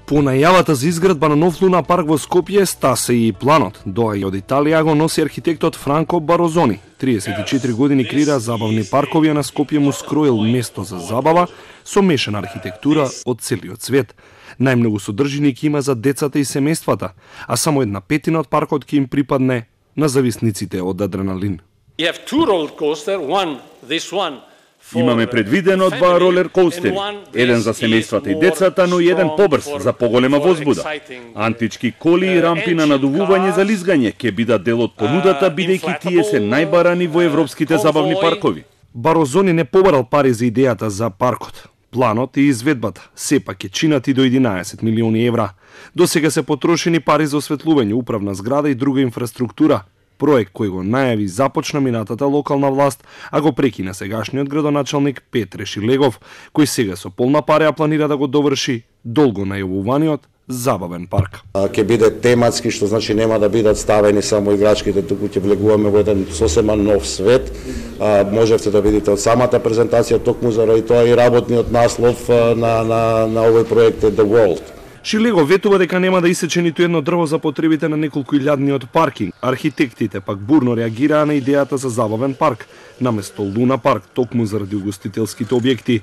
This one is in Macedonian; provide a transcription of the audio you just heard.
По најавата за изградба на нов луна парк во Скопје стасе и планот. Доаѓа од Италија, го носи архитектот Франко Барозони. 34 години креира забавни паркови, а на Скопје му скроил место за забава со мешана архитектура од целиот свет. Најмногу содржини ќе има за децата и семејствата, а само 1/5 од паркот ќе им припадне на зависниците од адреналин. Имаме предвидено 2 ролер коустери, еден за семејствата и децата, но и еден побрз за поголема возбуда. Антички коли и рампи на надувување за лизгање ќе бидат дел од понудата, бидејќи тие се најбарани во европските забавни паркови. Барозони не побарал пари за идејата за паркот. Планот и изведбата сепак ќе чинат и до 11 милиони евра. До сега се потрошени пари за осветлување, управна зграда и друга инфраструктура. Проект кој го најави започна минатата локална власт, а го прекина сегашниот градоначалник Петре Шилегов, кој сега со полна пареа планира да го доврши долго најавуваниот забавен парк. Ќе биде тематски, што значи нема да бидат ставени само играчките, туку ќе влегуваме во еден сосема нов свет. Можевте да видите од самата презентација токму заради тоа и работниот наслов на овој проект е The World. Шилего ветува дека нема да исече ниту едно дрво за потребите на неколку илјадниот паркинг. Архитектите пак бурно реагираа на идејата за забавен парк, наместо луна парк, токму заради угостителските објекти.